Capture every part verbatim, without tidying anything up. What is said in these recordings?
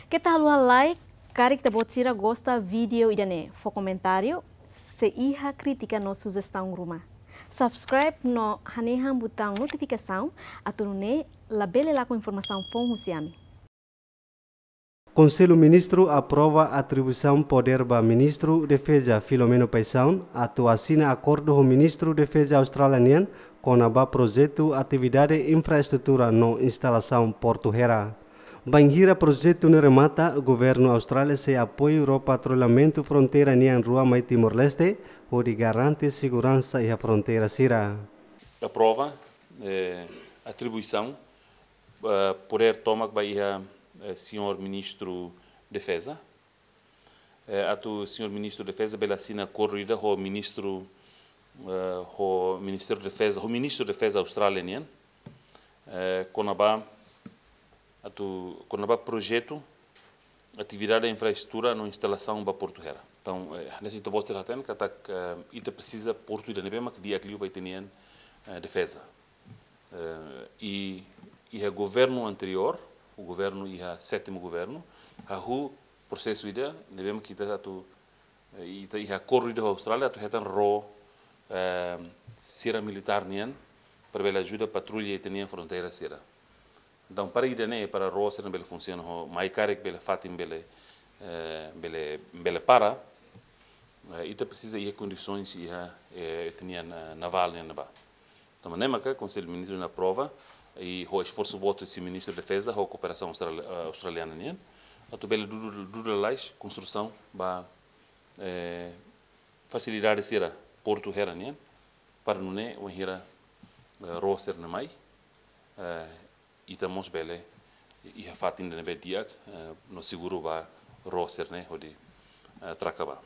Keta haluha like, karik ita-boot sira gosta vídeo ida-ne'e, fó komentáriu, se iha krítika no sujestaun ruma. Subscribe no hanehan butaun notifikasaun, atu nune'e labele lakon informasaun foun husi ami. Konsellu Ministru aprova atribuisaun podér ba Ministru Defeza Filomeno Paixão atu asina akordu ho Ministru Defeza Austrália nian kona-ba projetu atividade infraestrutura no instalasaun Portu Hera. Bainhira projetu ne'e remata, Governu Austrália sei apoiu ró patrullamentu fronteira nian rua mai Timor-Leste, hodi garante seguransa iha fronteira sira. Aprova, eh, atribuisaun, eh, podér tomak ba iha, eh, señór Ministru Defeza. Eh, atu señór Ministru Defeza bele asina akordu ida ho Ministru, eh, ho Ministériu Defeza, ho Ministru Defeza Austrália nian. Eh, kona-ba, atu, kona-ba projetu, atividade infraestrutura no instalasaun ba Portu Hera. Entaun, eh, hanesan ita-boot sira hatene katak, eh, ita presiza portu ida ne'ebé mak di'ak liu ba ita-nian, eh, defeza. Eh, i, iha governu anteriór, governu iha sétimu governu, hahú prosesu ida ne'ebé mak ita atu, eh, ita iha akordu ida ho Austrália atu hetan ró, eh, sira militár nian, para bele ajuda patrulla ita-nia fronteira sira. Entaun, para ida-ne'e, para ró sira bele funsiona ho, mai karik bele fatin bele, eh, bele, bele para, eh, ita presiza iha kondisoens iha, eh, ita-nia na-, navál nian ne'ebá. Entaun, ne'e maka Konsellu Ministru aprova, i ho esforsu boot husi Ministru Defeza, ho kooperasaun austral-, eh, australiana nian, atu bele dudu, dudu lalais konstrusaun ba, eh, fasilidade sira Portu Hera nian, para nune'e wainhira, eh, ró sira-ne'e mai, eh, ita mós bele iha fatin ida ne'ebé di'ak, eh, no seguru ba ró sira-ne'e hodi, eh, traka bá.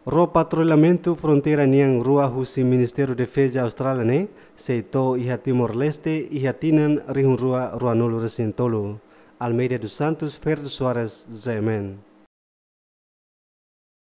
Ró patrullamentu fronteira nian rua husi Ministériu Defeza Austrália ne'e sei to'o iha Timor-Leste iha tinan rihun rua ruanulu resin tolu. Almeida dos Santos, Ferdo Soares, Z M N.